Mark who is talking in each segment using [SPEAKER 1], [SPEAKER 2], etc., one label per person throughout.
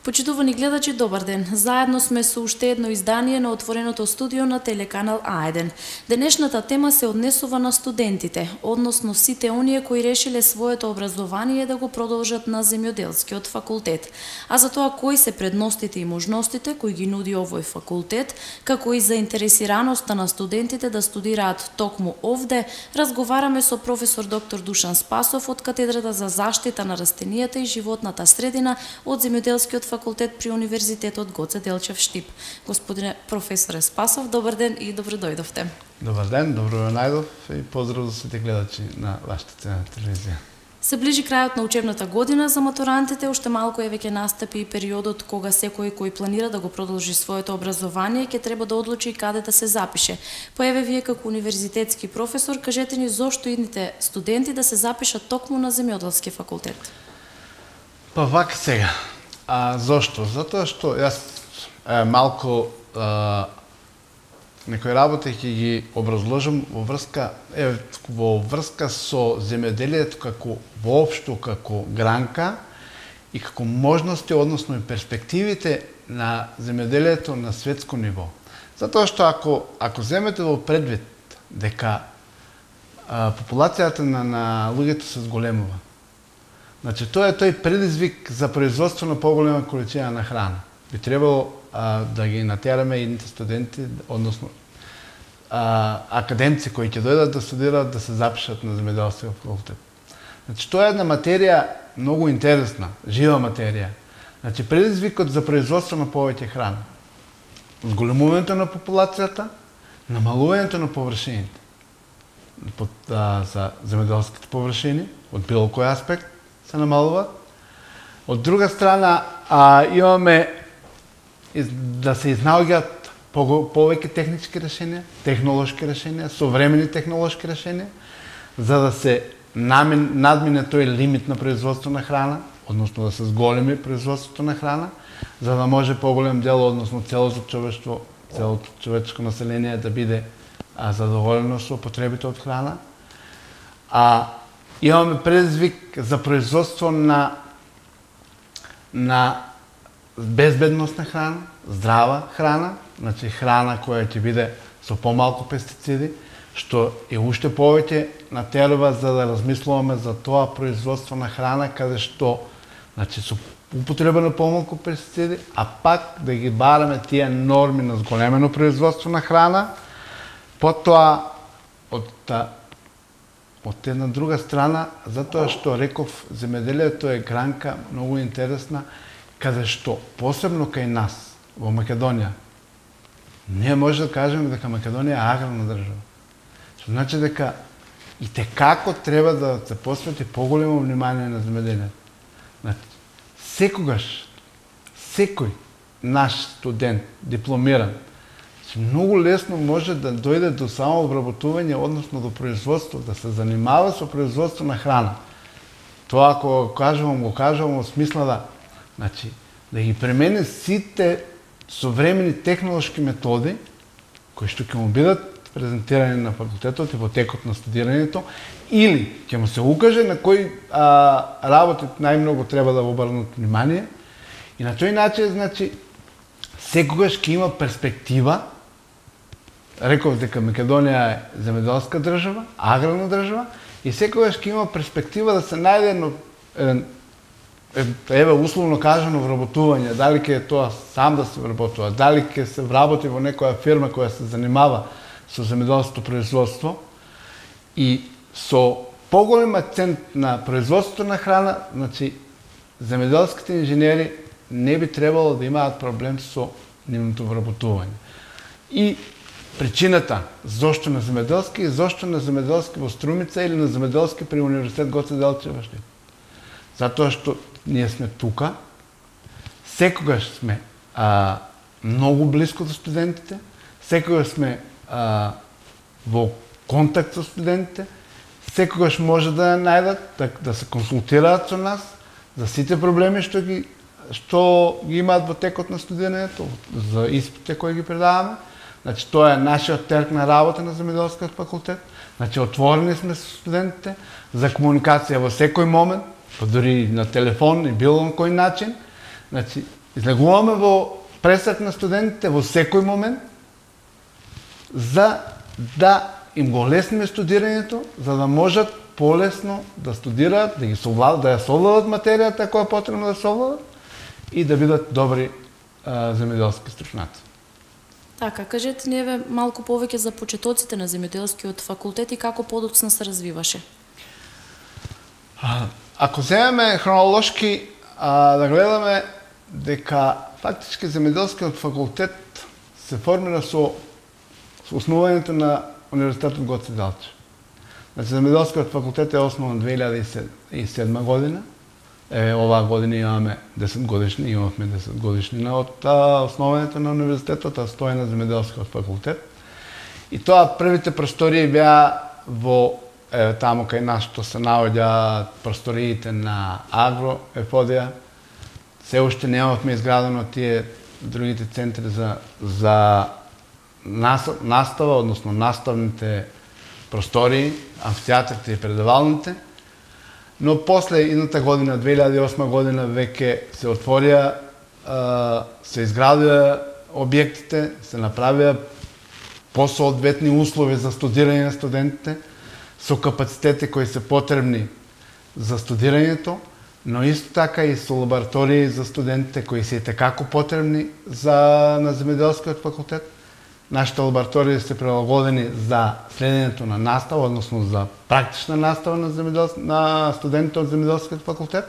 [SPEAKER 1] Почитувани гледачи, добар ден. Заедно сме со уште едно издание на отвореното студио на телеканал А1. Денешната тема се однесува на студентите, односно сите оние кои решиле своето образование да го продолжат на земјоделскиот факултет. А за тоа кои се предностите и можностите кои ги нуди овој факултет, како и заинтересираноста на студентите да студираат токму овде, разговараме со професор доктор Душан Спасов од катедрата за заштита на растенијата и животната средина од земјоделскиот факултет при Универзитетот Гоце Делчев Штип. Господине професоре Спасов, добар ден и добро дојдовте.
[SPEAKER 2] Добар ден, добро ве најдов и поздрав за сите гледачи на вашата ценна телевизија.
[SPEAKER 1] Се ближи крајот на учебната година за матурантите, уште малку веќе настапи и периодот кога секој кој планира да го продолжи своето образование ќе треба да одлучи каде да се запише. Па еве вие како универзитетски професор, кажете ни зошто идните студенти да се запишат токму на земјоделски факултет?
[SPEAKER 2] Па вака сега. Зошто? Затоа што јас малку некои работи ќе ги образложам во врска со земјоделието како воопшто како гранка и како можности, односно и перспективите на земјоделието на светско ниво. Затоа што ако земете во предвид дека популацијата на луѓето се зголемува, значи тоа е тој предизвик за производство на поголема количина на храна. Би требало да ги натераме едните студенти, односно академци кои ќе дојдат да студираат, да се запишат на земјоделски факултет. Значи тоа е една материја многу интересна, жива материја. Значи предизвикот за производство на повеќе храна. Зголемувањето на популацијата, намалувањето на површините. За земјоделските површини од било кој аспект се намалува. Од друга страна, имаме да се изнаоѓаат повеќе технички решенија, технолошки решенија, современи технолошки решенија, за да се надмине тој лимит на производство на храна, односно да се зголеми производството на храна, за да може поголем дел, односно целото човештво, целото човечко население да биде задоволено со потребите од храна. Имаме предизвик за производство на безбедностна храна, здрава храна, значи храна која ќе биде со помалку пестициди, што е уште повеќе натерува за да размислуваме за тоа производство на храна каде што значи со употреба на помалку пестициди, а пак да ги бараме тие норми на зголемено производство на храна. Потоа од една друга страна, затоа што реков земјоделието е гранка многу интересна, каде што посебно кај нас во Македонија ние може да кажеме дека Македонија е аграрна држава. Што значи дека и текако треба да се посвети поголемо внимание на земјоделието. Значи, секој наш студент, дипломиран, многу лесно може да дојде до самообработување, односно до производство, да се занимава со производство на храна. Тоа ако го кажувам во смисла да ги премени сите современи технолошки методи, кои што ќе му бидат презентирани на факултетот и во текот на студирањето, или ќе му се укаже на кои работи најмногу треба да обрнат внимание, и на тој начин, значи, секогаш ќе има перспектива. Реков дека Македонија е земјоделска држава, аграрна држава, и секогаш ќе има перспектива да се најде еве условно кажано вработување, дали ќе е тоа сам да се вработува, дали ќе се вработи во некоја фирма која се занимава со земјоделското производство, и со поголем акцент на производството на храна, значи земјоделските инженери не би требало да имаат проблем со нивното вработување. И причината зошто на земјоделски и зошто на земјоделски во Струмица или на земјоделски при Универзитет Гоце Делчев Штип. Затоа што ние сме тука, секогаш сме многу близко до студентите, секогаш сме во контакт со студентите, секогаш може да најдат, да се консултираат со нас за сите проблеми што ги имаат во текот на студирањето, за испитите кои ги предаваме. Значи, тоа е нашиот терк на работа на земјоделскиот факултет. Значи, отворени сме со студентите за комуникација во секој момент, па дури на телефон и било на кој начин. Значи, излегуваме во пресек на студентите во секој момент, за да им го лесниме студирањето, за да можат полесно да студираат, да ја совладат материјата која е потребно да совладат и да бидат добри земјоделски стручњаци.
[SPEAKER 1] Така, кажете ни еве малку повеќе за почетоците на земјоделскиот факултет и како подоцна се развиваше.
[SPEAKER 2] Ако земеме хронолошки да гледаме дека фактички земјоделскиот факултет се формира со основањето на Универзитетот Гоце Делчев. Значи, земјоделскиот факултет е основан 2007 година. Оваа година имаме 10 годишни, имавме 10 годишнина од основањето на универзитетот, а стои на земјоделскиот факултет. И тоа првите простории беа во таму кај нас што се наоѓа просториите на Агро, Ефодија. Се уште немавме изградено тие другите центри за настава, односно наставните простории, амфитеатрите и предавалните. Но после едната година, 2008 година, веќе се отворија, се изградија објектите, се направија посоодветни услови за студирање на студентите, со капацитети кои се потребни за студирањето, но исто така и со лаборатории за студентите кои се иtekако потребни на земјоделскиот факултет. Нашите лаборатории се прилагодени за следењето на настава, односно за практична настава на студентите од земјоделскиот факултет.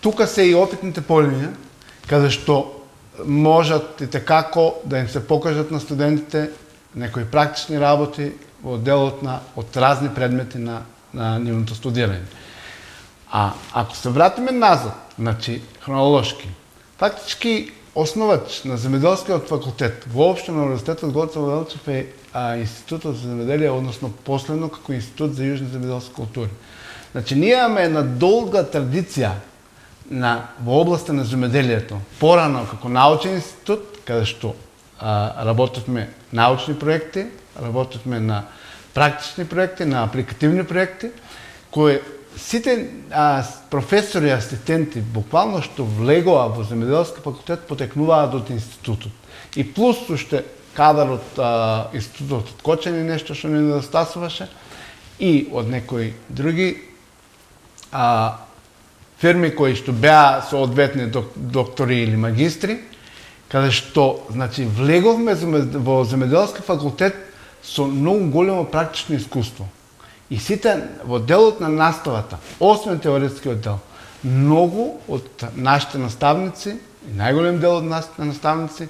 [SPEAKER 2] Тука се и опитните полиња, каде што можат иtekако да им се покажат на студентите некои практични работи во делот од разни предмети на нивното студирање. А ако се вратиме назад, значи хронолошки, фактички основач на земјоделскиот факултет, воопшто на Универзитетот Гоце Делчев е Институтот за земјоделие, односно последно како Институт за јужни земјоделски култури. Значи, ние имаме една долга традиција во областа на земјоделието. Порано како научен институт, каде што работевме научни проекти, работевме на практични проекти, на апликативни проекти, кои сите професори и асистенти буквално што влегоа во земјоделски факултет потекнуваат од институтот. И плюс уште кадар од институтот од Кочани, нешто што не недостасуваше, и од некои други фирми кои што беа соодветни доктори или магистри, каде што, значи, влеговме во земјоделски факултет со многу големо практично искуство. И сите во делот на наставата, освен теоретскиот дел, многу од нашите наставници, и најголем дел од нашите наставници,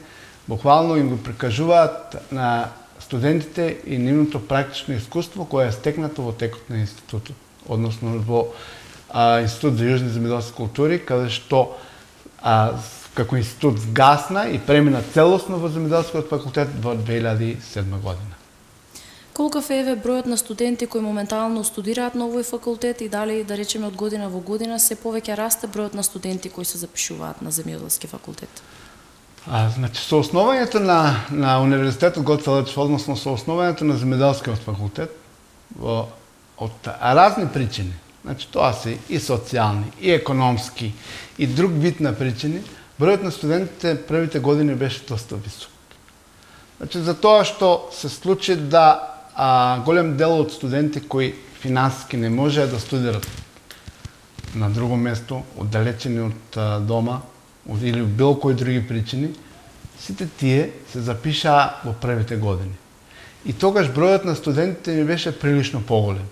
[SPEAKER 2] буквално им го прикажуваат на студентите и нивното практично искуство кое е стекнато во текот на институтот, односно во Институт за јужни земјоделски култури, каде што како институт вгасна и премина целосно во земјоделскиот факултет во 2007 година.
[SPEAKER 1] Колкав е бројот на студенти кои моментално студираат на овој факултет и дали, да речеме, од година во година се повеќе расте бројот на студенти кои се запишуваат на земјоделски факултет?
[SPEAKER 2] Значи, со основањето на Универзитетот Гоце Делчев, односно со основањето на земјоделскиот факултет, од разни причини, значи тоа се и социјални, и економски, и друг вид на причини, бројот на студентите првите години беше доста висок. Значи, за тоа што се случи да голем дел од студенти кои финансиски не можеа да студират на друго место, оддалечени од дома, или било кои други причини, сите тие се запишаа во првите години. И тогаш бројот на студентите ни беше прилично поголем.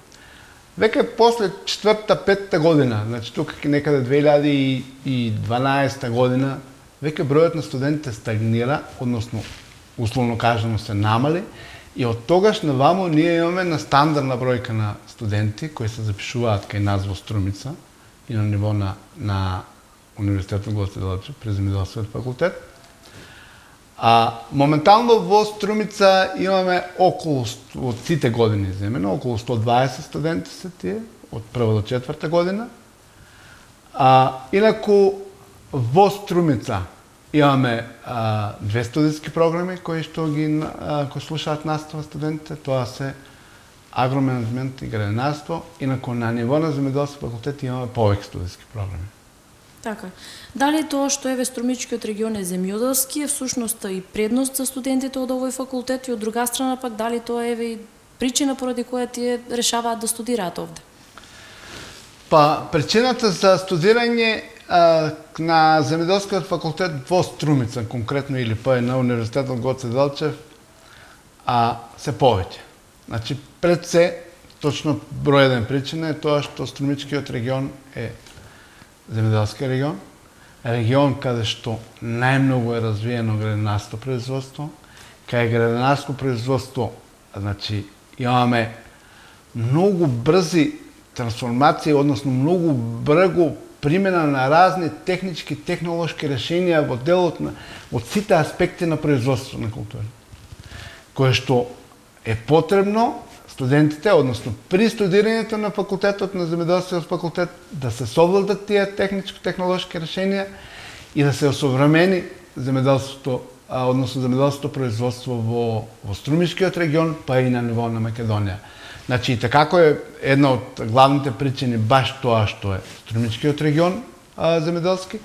[SPEAKER 2] Веќе после 4-5 година, значи тука некаде 2012 година, веќе бројот на студентите стагнира, односно условно кажано се намали, и од тогаш наваму ние имаме на стандардна бројка на студенти кои се запишуваат кај нас во Струмица и на ниво на Универзитетот Гоце Делчев при земјоделскиот факултет. Моментално во Струмица имаме околу, од сите години земено, околу 120 студенти се тие, од прва до четврта година. Инаку во Струмица имаме две студиски програми кои слушаат настава студентите, тоа се агроменеджмент и градинарство, инаку на ниво на земјоделски факултет имаме повеќе студиски програми.
[SPEAKER 1] Така. Дали тоа што еве Струмичкиот регион е земјоделски е всушност и предност за студентите од овој факултет и од друга страна пак дали тоа еве и причина поради која тие решаваат да студираат овде?
[SPEAKER 2] Па причината за студирање на земјоделскиот факултет во Струмица конкретно или па на Универзитетот Гоце Делчев се повеќе. Значи пред се точно број еден причина е тоа што Струмичкиот регион е земјоделски регион, регион каде што најмногу е развиено градинарско производство, кај градинарско производство, значи имаме многу брзи трансформации, односно многу брзо примена на разни технички, технолошки решенија во делот на од сите аспекти на производство на култура, кое што е потребно студентите, односно при студирањето на факултетот на земјоделскиот факултет да се совладат тие техничко-технолошки решенија и да се осовремени земјоделството, односно земјоделското производство во Струмишкиот регион, па и на ниво на Македонија. Значи, такако е една од главните причини баш тоа што е Струмичкиот регион земјоделски,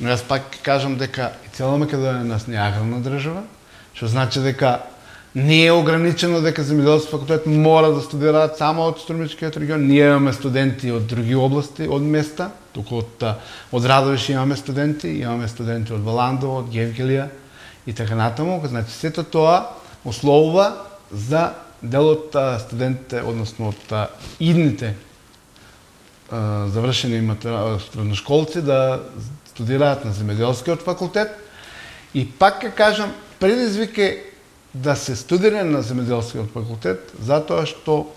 [SPEAKER 2] но јас пак кажам дека и цела Македонија нас не е аграрна држава, што значи дека не е ограничено дека земјоделски факултет мора да студираат само од Струмичкиот регион. Ние имаме студенти од други области, од места, туку од Радовиш имаме студенти од Валандово, од Гевгелија и така натаму. Значи сето тоа условува за дел од студентите, односно од идните завршени средношколци да студираат на земјоделскиот факултет. И пак ќе кажам, предизвик е да се студира на земјоделскиот факултет, затоа што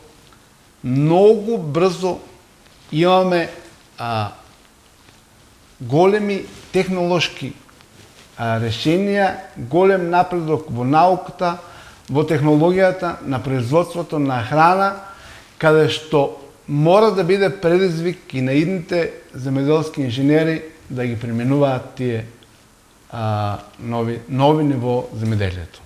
[SPEAKER 2] многу брзо имаме големи технолошки решенија, голем напредок во науката, во технологијата, на производството на храна, каде што мора да биде предизвик и на идните земјоделски инженери да ги применуваат тие нови ниво земјоделието.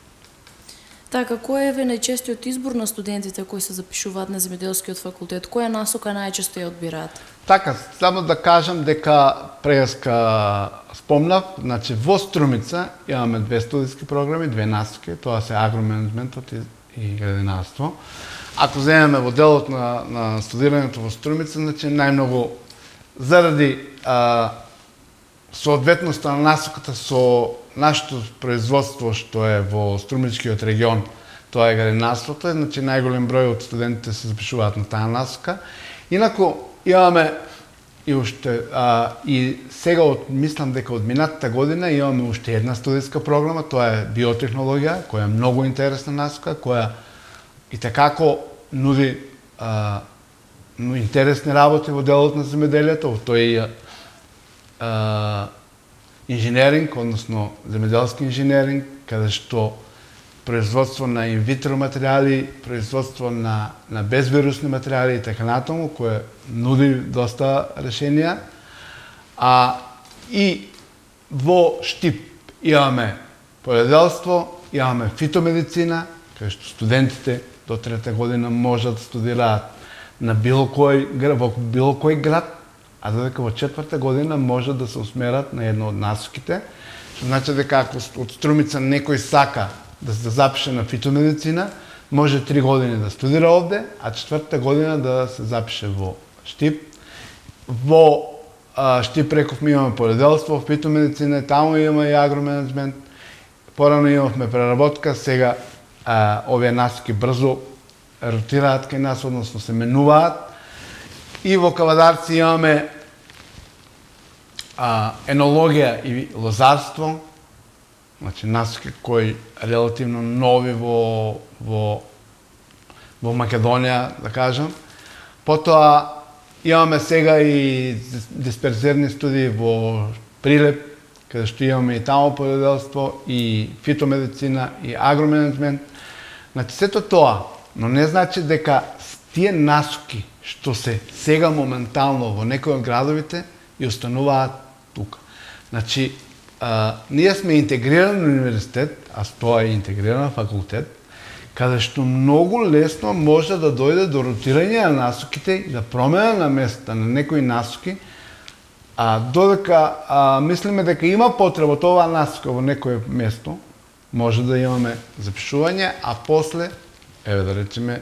[SPEAKER 1] Така, кој е најчестиот избор на студентите кои се запишуваат на земјоделскиот факултет? Која насока најчесто ја одбираат?
[SPEAKER 2] Така, само да кажам дека преска спомнав, значи во Струмица имаме две студиски програми, две насоки, тоа се агроменеджментот и градинарство. Ако земеме во делот на студирањето во Струмица, значи најмногу заради соодветноста на насоката со нашето производство што е во Струмичкиот регион, тоа е градинарството, значи најголем број од студентите се запишуваат на таа насока. Инаку имаме и уште и сега мислам дека од минатата година имаме уште една студиска програма, тоа е биотехнологија, која е многу интересна насока, која и такако нуди интересни работи во делот на земјоделието, во тој инженеринг, односно земјоделски инженеринг, каде што производство на инвитро материјали, производство на безвирусни материјали и така натаму, кое нуди доста решенија. И во Штип имаме поледелство, имаме фитомедицина, каде што студентите до трета година можат да студираат на во било кој град, а додека во четврта година можат да се усмерат на една од насоките, што значи дека ако од Струмица некој сака да се запише на фитомедицина, може 3 години да студира овде, а четвртата година да се запише во Штип. Во Штип рековме имаме поледелство, фитомедицина, таму имаме и агроменеджмент, порано имавме преработка, сега овие насоки брзо ротираат кај нас, односно се менуваат. И во Кавадарци имаме енологија и лозарство, значи насоки кои релативно нови во Македонија, да кажам. Потоа имаме сега и дисперзерни студии во Прилеп, каде што имаме и таму поледелство, и фитомедицина, и агроменеджмент. Значи сето тоа, но не значи дека тие насоки што се сега моментално во некои од градовите и остануваат тука. Значи, ние сме интегриран универзитет, а тоа е интегриран факултет, каде што многу лесно може да дојде до ротирање на насоките и да промена на места на некои насоки Додека мислиме дека има потреба од оваа насока во некое место, може да имаме запишување, а после, да речеме,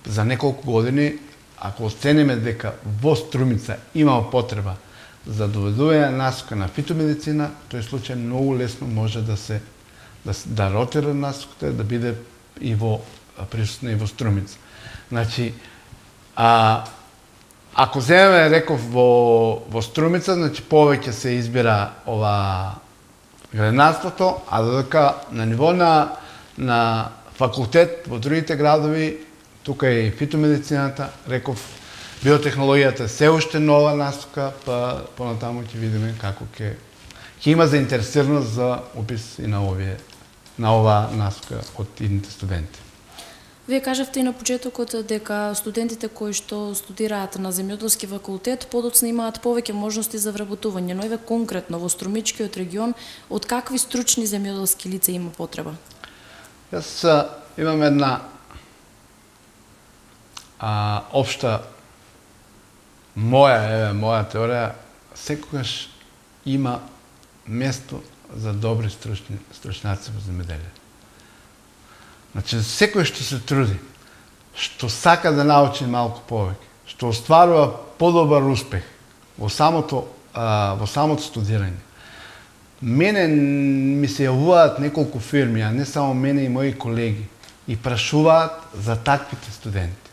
[SPEAKER 2] за неколку години, ако оцениме дека во Струмица има потреба за доведување насока на фитомедицина, тој случај многу лесно може да ротира насоката, да биде и присутна и во Струмица. Значи, ако земеме, реков, во Струмица, значи повеќе се избира ова градинарството, а додека на ниво на факултет во другите градови, тука е и фитомедицината, реков, биотехнологијата се уште нова насока, па понатаму ќе видиме како ќе има заинтересираност за упис и на оваа насока од идните студенти.
[SPEAKER 1] Вие кажавте и на почетокот дека студентите кои што студираат на земјоделски факултет подоцна имаат повеќе можности за вработување, но еве конкретно во Струмичкиот регион од какви стручни земјоделски лица има потреба?
[SPEAKER 2] Јас имам една општа моја теорија, секогаш има место за добри стручњаци во земјоделие. Значи, секој што се труди, што сака да научи малку повеќе, што остварува подобар успех во самото студирање. Мене ми се јавуваат неколку фирми, а не само мене и мои колеги, и прашуваат за таквите студенти.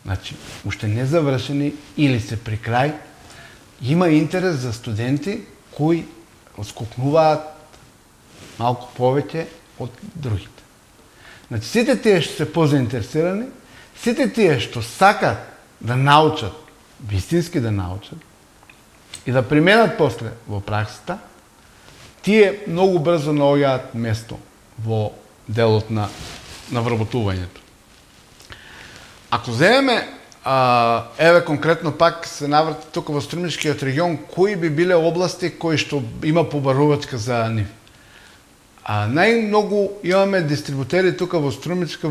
[SPEAKER 2] Значи, уште не завршени или се при крај, има интерес за студенти кои отскокнуваат малку повеќе од другите. Значи, сите тие што се позаинтересирани, сите тие што сакат да научат, вистински да научат, и да применат после во праксата, тие многу брзо наоѓаат место во делот на вработувањето. Ако земеме, еве конкретно пак се наврати тука во Струмичкиот регион, кои би биле области кои што има побарувачка за нив? Најмногу имаме дистрибутери тука во Струмичко,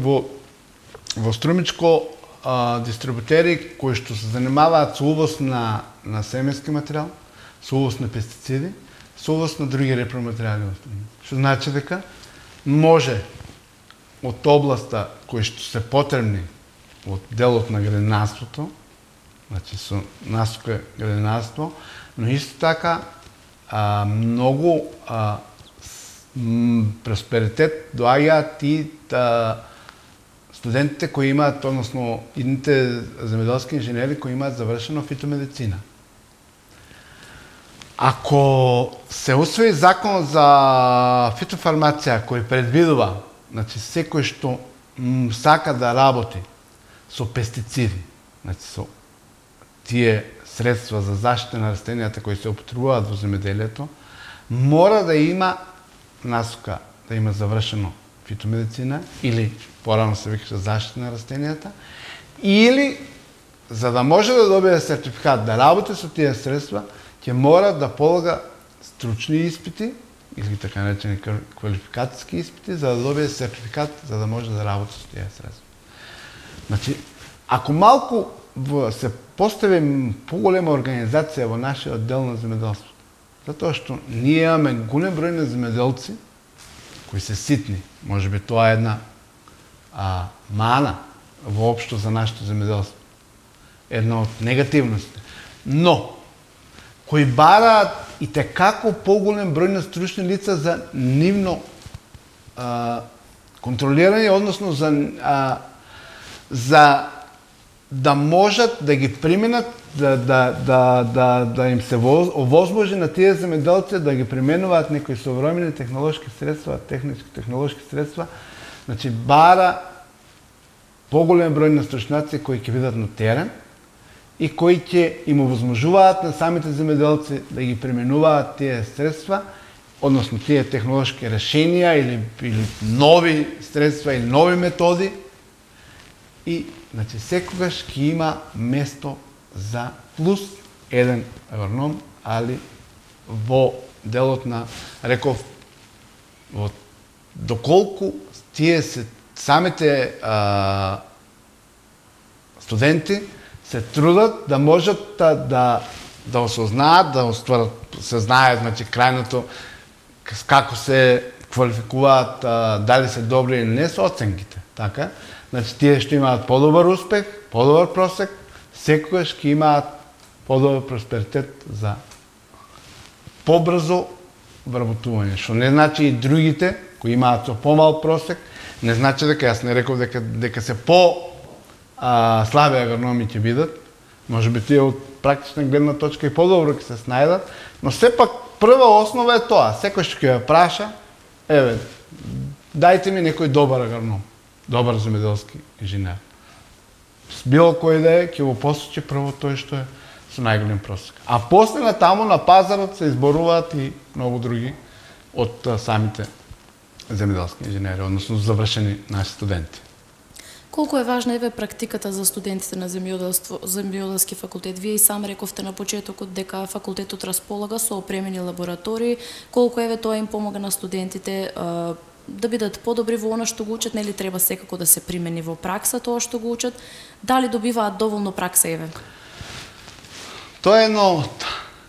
[SPEAKER 2] дистрибутери кои што се занимаваат со увоз на семенски материјал, со увоз на пестициди, со увоз на други репроматеријали во Струмица. Што значи дека може од областа кои што се потребни од делот на градинарството, значи со насока градинарство, но исто така многу просперитет доаѓаат и студентите кои имаат, односно идните земјоделски инженери кои имаат завршено фитомедицина. Ако се усвои закон за фитофармација кој предвидува, значи секој што сака да работи со пестициди, значи со тие средства за заштита на растенијата кои се употребуваат во земјоделието, мора да има насока, да има завршено фитомедицина или порано се викаше заштита на растенијата, или за да може да добие сертификат да работи со тие средства, ќе мора да полага стручни испити или така наречени квалификацијски испити за да добие сертификат за да може да работи со тие средства. Значи, ако малку се постави поголема организација во нашиот дел на земјоделството, затоа што ние имаме голем број на земјоделци кои се ситни, можеби тоа е една мана воопшто за нашето земјоделство, една од негативностите, но кои бараат и текако поголем број на стручни лица за нивно контролирање, односно за да можат да ги применат, да им се овозможи на тие земјоделци да ги применуваат некои современи технолошки средства, технолошки средства, значи бара поголем број на стручњаци кои ќе бидат на терен и кои ќе им овозможуваат на самите земјоделци да ги применуваат тие средства, односно тие технолошки решенија или нови средства или нови методи. И, значи, секогаш ќе има место за плюс еден агроном, али во делот на, реков, доколку тие самите студенти се трудат да можат да да осознаат, да остварат, се знае, значи крајното како се квалификуваат, дали се добри или не со оценките, така? Значи тие што имаат подобар успех, подобар просек, секогаш ќе имаат подобар просперитет за побрзо вработување, што не значи и другите кои имаат со помал просек, не значи дека јас не реков дека се слаби агрономи ќе бидат, можеби тие од практична гледна точка и подобро ќе се снајдат, но сепак прва основа е тоа, секој што ќе ја праша, еве, дајте ми некој добар агроном, добар земјоделски инженер. Било кој да е, ќе го посочи прво тој што е со најголем просек. А после на таму на пазарот се изборуваат и многу други од самите земјоделски инженери, односно завршени наши студенти.
[SPEAKER 1] Колку е важна еве практиката за студентите на земјоделски факултет? Вие и сам рековте на почетокот дека факултетот располага со опремени лаборатории, колку еве тоа им помага на студентите да бидат подобри во она што го учат, нели треба секако да се примени во пракса тоа што го учат, дали добиваат доволно пракса еве?
[SPEAKER 2] Тоа е едно од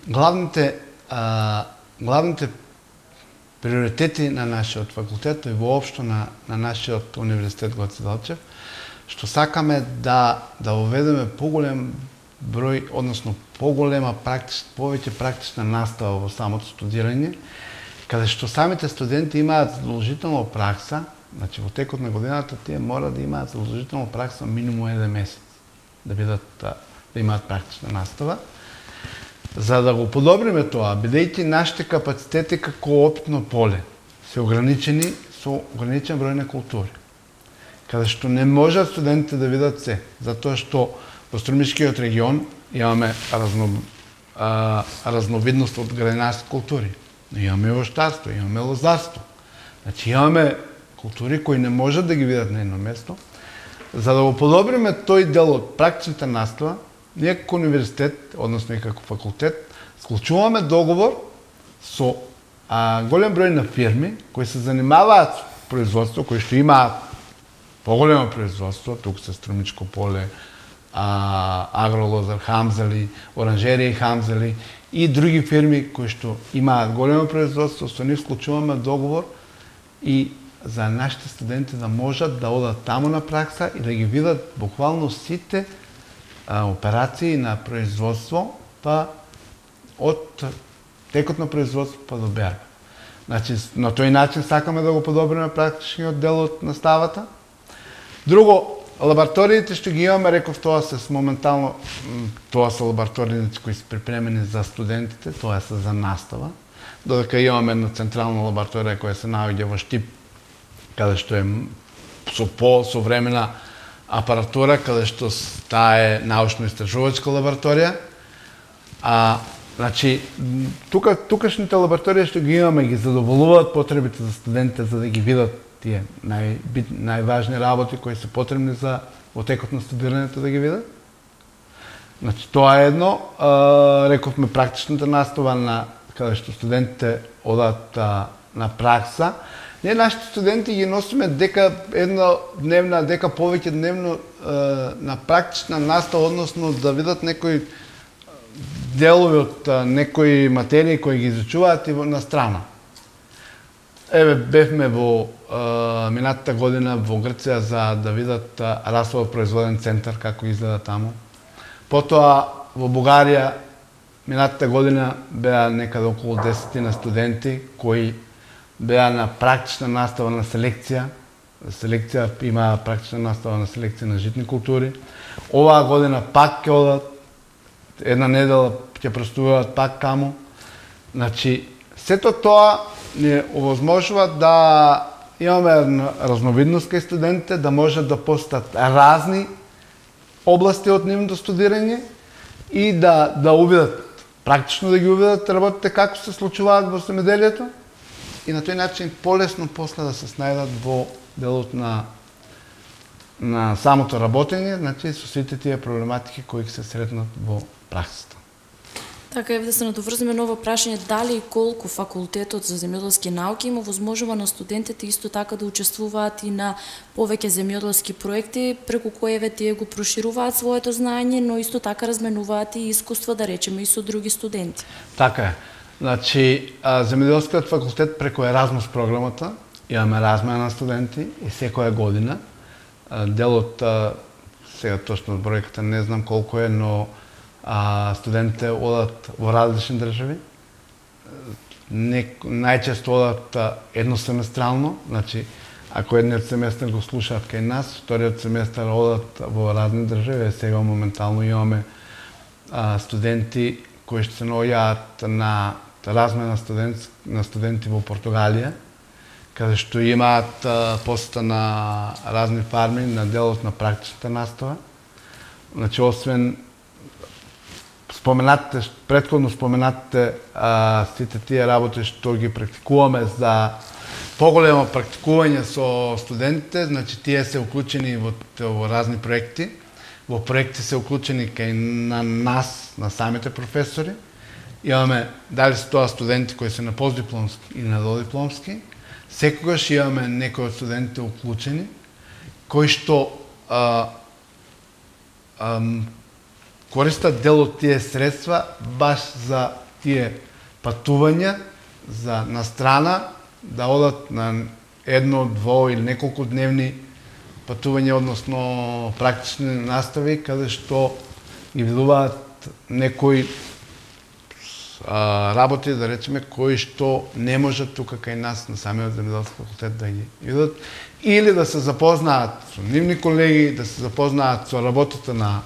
[SPEAKER 2] главните приоритети на нашиот факултет и воопшто на нашиот универзитет Гоце Делчев, што сакаме да уведеме поголем број, односно повеќе практична настава во самото студирање, каде што самите студенти имаат задолжително пракса, значи во текот на годината тие мора да имаат задолжително пракса минимум 1 месец, да имаат практична настава. За да го подобриме тоа, бидејќи нашите капацитети како опитно поле се ограничени со ограничен број на култури, каде што не можат студентите да видат се, затоа што во Струмишкиот регион имаме разновидност од градинарски култури. Имаме овощарство, имаме лозарство. Значи имаме култури кои не можат да ги видат на едно место. За да го подобриме тој дел од практичната настава, ние како универзитет, односно и како факултет, склучуваме договор со голем број на фирми кои се занимаваат со производство, кои што имаат поголемо производство, тук се Струмичко поле, Агролозар, Хамзали, Оранжерија Хамзали и други фирми кои што имаат големо производство, со нив склучуваме договор и за нашите студенти да можат да одат таму на пракса и да ги видат буквално сите операции на производство, па од текот на производство па до берба. Значи, на тој начин сакаме да го подобриме практичниот дел од наставата. Друго, лабораториите што ги имаме, реков, тоа се моментално, тоа се лаборатории кои се припремени за студентите, тоа се за настава, додека имаме една централна лабораторија која се наоѓа во Штип, каде што е со посовремена апаратура, каде што таа е научно-истражувачка лабораторија. Значи, тукашните лаборатории што ги имаме ги задоволуваат потребите за студентите за да ги видат тие најважни работи кои се потребни за во текот на студирањето да ги видат. Значи, тоа е едно. Рековме практичната настава каде што студентите одат на пракса. Ние нашите студенти ги носиме дека повеќе дневно на практична настава, односно да видат некои делови од некои материи кои ги изучуваат и на страна. Еве, бевме во минатата година во Грција за да видат расово производен центар, како изгледа таму. Потоа во Бугарија минатата година беа некаде околу 10 студенти кои беа на практична настава на селекција. Селекција има практична настава на селекција на житни култури. Оваа година пак ќе одат, една недела ќе простуваат пак таму. Значи, сето тоа ни овозможува да имаме разновидност кај студентите, да можат да посетат разни области од нивното студирање и да увидат, практично да ги увидат работите како се случуваат во земјоделието и на тој начин полесно после да се снајдат во делот на самото работење, значи со сите тие проблематики кои се сретнат во праксата.
[SPEAKER 1] Така, еве да се надоврземе на ово прашање, дали и колку факултетот за земјоделски науки има возможува на студентите исто така да учествуваат и на повеќе земјоделски проекти, преку кои еве тие го прошируваат своето знаење, но исто така разменуваат и искуства, да речеме, и со други студенти.
[SPEAKER 2] Така е. Значи, земјоделскиот факултет преку Еразмус програмата имаме размена на студенти и секоја година. Делот, сега точно бројката не знам колку е, но студентите одат во различни држави. Најчесто одат едносеместрално, значи ако едниот семестар го слушаат кај нас, вториот семестар одат во разни држави. Сега моментално имаме студенти кои ще се наоѓаат на размена на студенти во Португалија, каде што имаат посета на разни фарми, на делот на практичната настава. Значи, освен предходно споменатите сите тие работи што ги практикуваме за поголемо практикување со студентите, значи тие се уклучени во разни проекти. Во проекти се уклучени кај на нас, на самите професори. Имаме, дали се тоа студенти кои се на постдипломски или на додипломски, секогаш имаме некои од студентите уклучени, кои што користат дел од тие средства баш за тие патувања на страна, да одат на едно, дво или неколку дневни патувања, односно практични настави, каде што ги видуваат некои работи, да речеме, кои што не можат тука кај нас на самиот земјоделски факултет да ги видат, или да се запознаат со нивни колеги, да се запознаат со работата на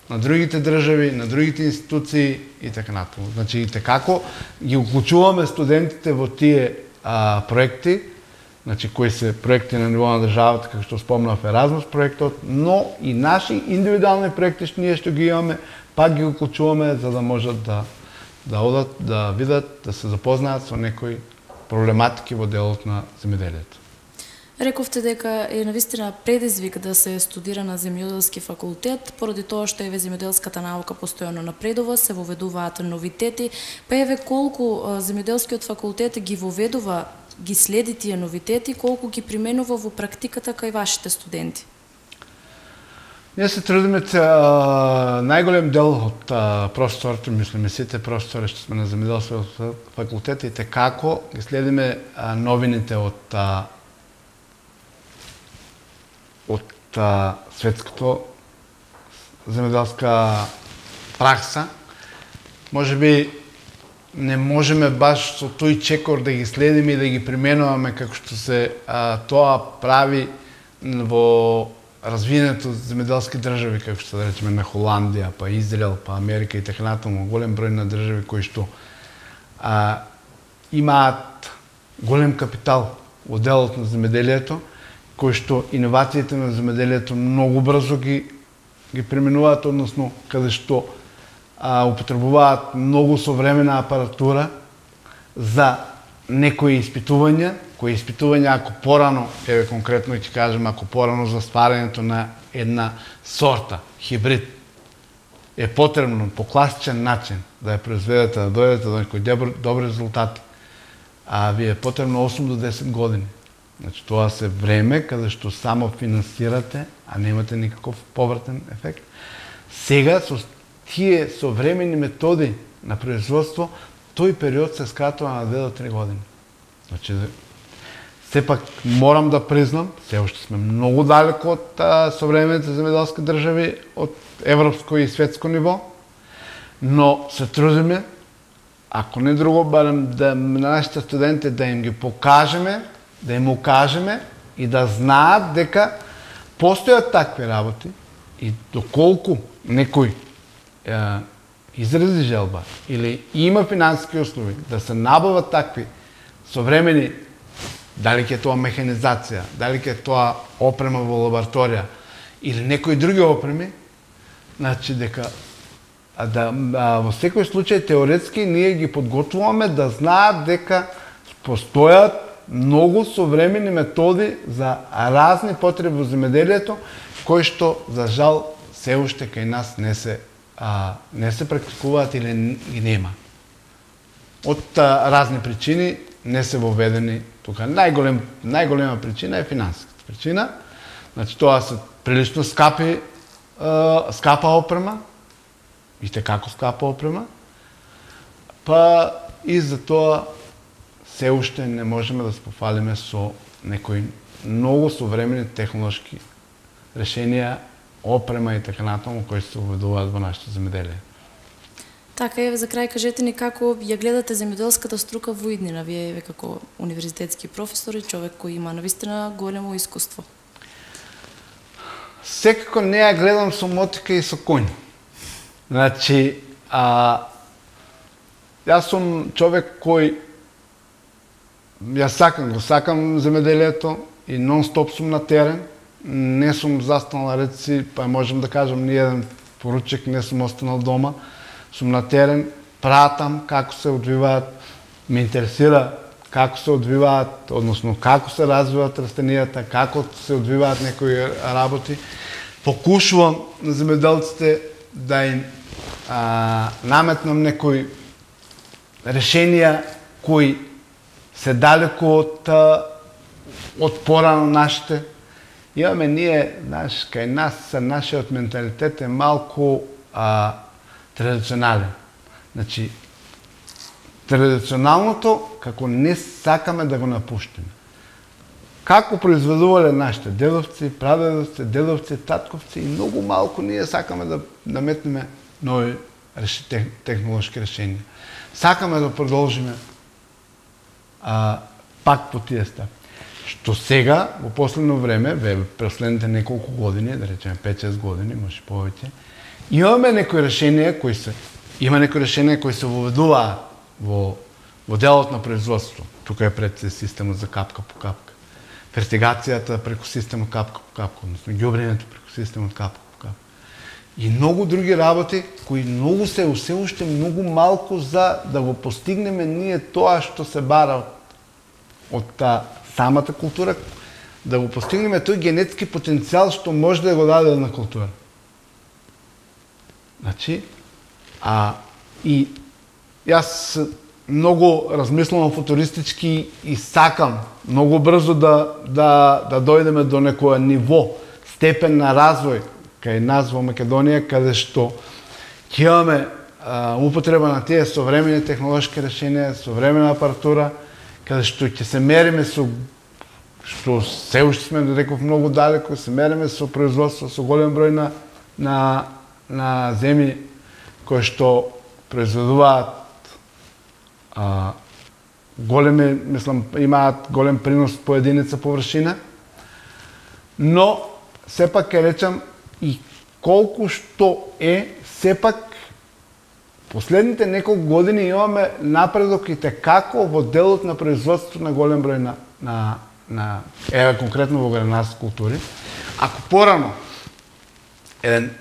[SPEAKER 2] другите држави, на другите институции и така натаму. Значи, и како ги уклучуваме студентите во тие проекти, значи кои се проекти на ниво на државата, како што спомнав Еразмус проектот, но и наши индивидуални проекти што ги имаме, пак ги уклучуваме за да можат да одат, да видат, да се запознаат со некои проблематики во делот на земјоделието.
[SPEAKER 1] Рековте дека е навистина предизвик да се студира на земјоделски факултет, поради тоа што еве земјоделската наука постојано напредува, се воведуваат новитети, па еве колку земјоделскиот факултет ги воведува, ги следи тие новитети, колку ги применува во практиката кај вашите студенти?
[SPEAKER 2] Ние се трудиме најголем дел од професорите, мислиме сите професори што сме на земјоделскиот факултет, и како ги следиме новините од светското земјоделска пракса. Може би не можеме баш со тој чекор да ги следиме и да ги применуваме како што се тоа прави во развиените земјоделски држави, како што да речеме на Холандија, па Израел, па Америка и така натаму, голем број на држави кои што имаат голем капитал во делот на земјоделието, кои што иновациите на земјоделието многу брзо ги применуваат, односно каде што употребуваат многу современа апаратура за некои испитувања, кои испитувања ако порано, еве конкретно ќе кажем, ако порано за стварањето на една сорта, хибрид, е потребно по класичен начин да ја произведете, да дојдете до некои добри резултати, ви е потребно 8 до 10 години. Значи, тоа се време каде што само финансирате, а немате никаков повратен ефект. Сега, со тие современи методи на производство, тој период се скратува на 2 до 3 години. Значи, сепак морам да признам, се уште сме многу далеко од современите земјоделски држави, од европско и светско ниво, но се трудиме, ако не друго, барем на нашите студенти да им ги покажеме, да им укажеме и да знаат дека постојат такви работи и доколку некој изрази желба или има финансиски услови да се набават такви современи, дали ќе тоа механизација, дали ќе тоа опрема во лабораторија или некои други опреми, значи дека во секој случај теоретски ние ги подготвуваме да знаат дека постојат многу современи методи за разни потреби во земјоделието, кои што, за жал, се уште кај нас не се не се практикуваат или ги нема. Од разни причини не се воведени тука. Најголема причина е финансиската причина. Значи тоа се прилично скапа опрема, и како скапа опрема, па и за тоа се уште не можеме да се пофалиме со некои многу современи технолошки решенија, опрема и така натаму кои се уведуваат во нашето земјоделие.
[SPEAKER 1] Така е, за крај кажете ни како ја гледате земјоделската струка во иднина, вие како универзитетски професор и човек кој има навистина големо искуство.
[SPEAKER 2] Секако не ја гледам со мотика и со коњ. Значи, јас сум човек кој го сакам земјоделието и нон-стоп сум на терен. Не сум застанал реци, па можем да кажам ни еден поручек, не сум останал дома. Сум на терен, пратам како се одвиваат, ме интересира како се одвиваат, односно како се развиваат растенијата, како се одвиваат некои работи. Покушувам на земјоделците да им наметнам некои решенија кои се далеку од порано нашите. Имаме ние, кај нас, нашиот менталитет е малку традиционален. Значи, традиционалното, како не сакаме да го напуштиме. Како произведувале нашите дедовци, прадедовци, дедовци, татковци, и многу малку ние сакаме да наметнеме нови технолошки решенија. Сакаме да продолжиме пак по тие стапи. Што сега, во последно време, последните неколку години, да речеме 5-6 години, може повеќе, имаме некои решенија кои се воведуваат во делот на производство. Тука е пред системот за капка по капка. Фертигацијата преку системот капка по капка, односно ѓубрењето преку системот капка по капка. И многу други работи кои многу се уште многу малку за да го постигнеме ние тоа што се бара од самата култура, да го постигнеме тој генетски потенцијал што може да го даде една култура. Значи, и јас многу размислувам футуристички и сакам многу брзо да дојдеме до некој ниво, степен на развој кај нас во Македонија, каде што ќе имаме употреба на тие современи технолошки решенија, современа апаратура, каде што ќе се мериме што се уште сме, реков, многу далеко, се мериме со производство, со голем број на земји кои што произведуваат големи, мислам, имаат голем принос по единица површина, но сепак ќе речам и колку што сепак последните неколку години имаме напредок и како во делот на производство на голем број еве конкретно во гранарски култури. Ако порано еден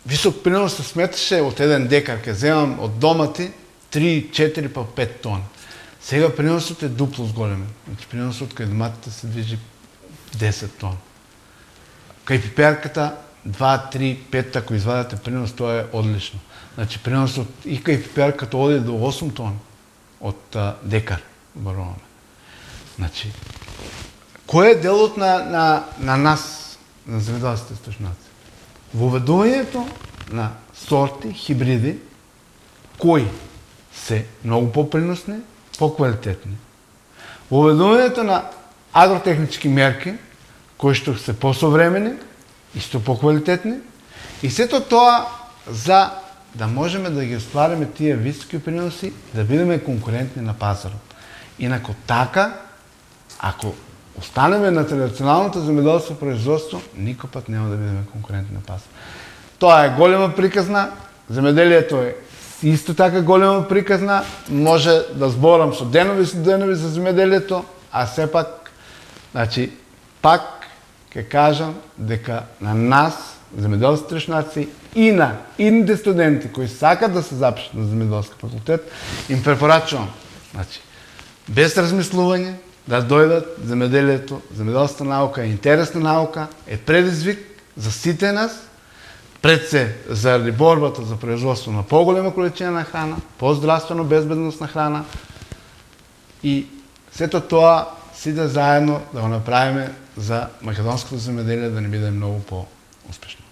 [SPEAKER 2] висок принос се сметаше од 1 декар, ќе земам од домати 3, 4 па 5 тона. Сега приносот е дупло зголемен. Значи приносот кај доматите се движи 10 тона. Кај пиперката 2, 3, 5, ако извадате принос, тоа е одлично. Значи приносот и кај пиперката оди до 8 тона од декар баруваме. Значи, кој е делот на нас, на земјоделските стојшници? Воведувањето на сорти, хибриди, кои се многу поприносни, поквалитетни. Воведувањето на агротехнички мерки, кои што се посовремени, исто поквалитетни, и сето тоа за да можеме да ги оствариме тие високи приноси, да бидеме конкурентни на пазарот. Инако така, ако останеме на традиционалното земјоделско производство, никој пат нема да бидеме конкурентни на пазар. Тоа е голема приказна, земјоделието е исто така голема приказна, може да зборам со денови за земјоделието, а сепак, значи, пак ќе кажам дека на нас, земјоделски трошнаци, и на идните студенти кои сакат да се запишат на земјоделски факултет, им препорачувам, значи, без размислување, да дојдат земјоделието, земјоделската наука е интересна наука, е предизвик за сите нас, пред се заради борбата за производство на поголема количина на храна, поздравствено безбедностна храна и сето тоа сите заедно да го направиме за македонското земеделие да не биде многу по-успешно.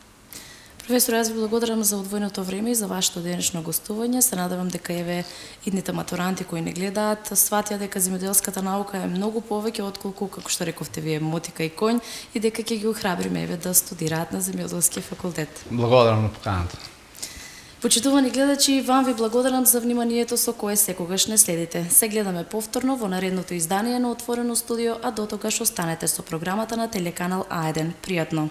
[SPEAKER 1] Професор, јас ви благодарам за одвоеното време и за вашето денешно гостување. Се надевам дека еве идните матуранти кои не гледаат сватија дека земјоделската наука е многу повеќе отколку, како што рековте вие, мотика и конј, и дека ќе ги охрабриме еве да студираат на земјоделскиот факултет.
[SPEAKER 2] Благодарам на поканата.
[SPEAKER 1] Почитувани гледачи, вам ви благодарам за вниманието со кое секогаш не следите. Се гледаме повторно во наредното издание на Отворено студио, а дотогаш останете со програмата на телеканал А1. Пријатно!